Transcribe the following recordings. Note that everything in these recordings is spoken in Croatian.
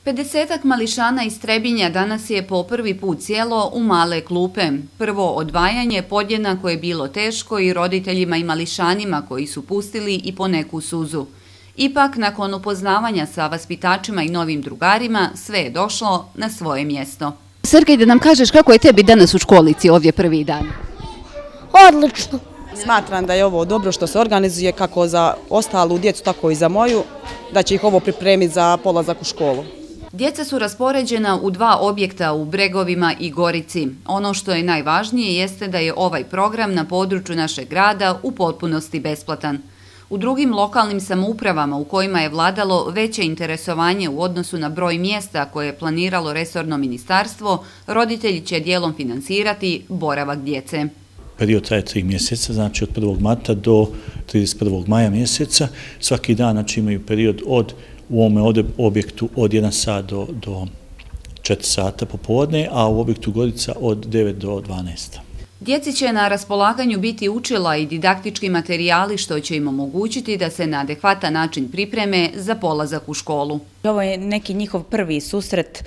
50-ak mališana iz Trebinja danas je po prvi put sjelo u male klupe. Prvo odvajanje podjednako je bilo teško i roditeljima i mališanima koji su pustili i po neku suzu. Ipak, nakon upoznavanja sa vaspitačima i novim drugarima, sve je došlo na svoje mjesto. Sergej, da nam kažeš kako je tebi danas u školici ovdje prvi dan? Odlično. Smatram da je ovo dobro što se organizuje kako za ostalu djecu, tako i za moju, da će ih ovo pripremiti za polazak u školu. Djeca su raspoređena u 2 objekta u Bregovima i Gorici. Ono što je najvažnije jeste da je ovaj program na području našeg grada u potpunosti besplatan. U drugim lokalnim samoupravama u kojima je vladalo veće interesovanje u odnosu na broj mjesta koje je planiralo resorno ministarstvo, roditelji će dijelom financirati boravak djece. Period traje 3 mjeseca, znači od 1. marta do 31. maja mjeseca. Svaki dan znači, imaju period u ovome objektu od 1 sat do 4 sata popodne, a u objektu Gorica od 9 do 12. Djeci će na raspolaganju biti učila i didaktički materijali što će im omogućiti da se na adekvatan način pripreme za polazak u školu. Ovo je neki njihov prvi susret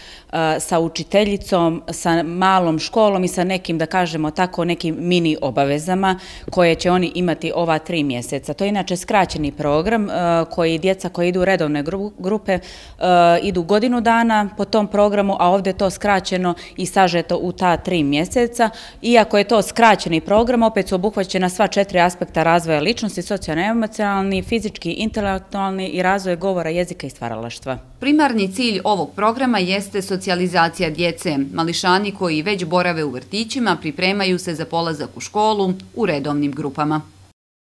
sa učiteljicom, sa malom školom i sa nekim, da kažemo tako, nekim mini obavezama koje će oni imati ova 3 mjeseca. To je inače skraćeni program koji djeca koji idu u redovne grupe idu godinu dana po tom programu, a ovdje je to skraćeno i sažeto u ta 3 mjeseca. Iako je to skraćeni program, opet su obuhvaćena sva 4 aspekta razvoja ličnosti, socijalno-emocionalni, fizički, intelektualni i razvoj govora, jezika i stvaralaštva. Primarni cilj ovog programa jeste socijalizacija djece. Mališani koji već borave u vrtićima pripremaju se za polazak u školu u redovnim grupama.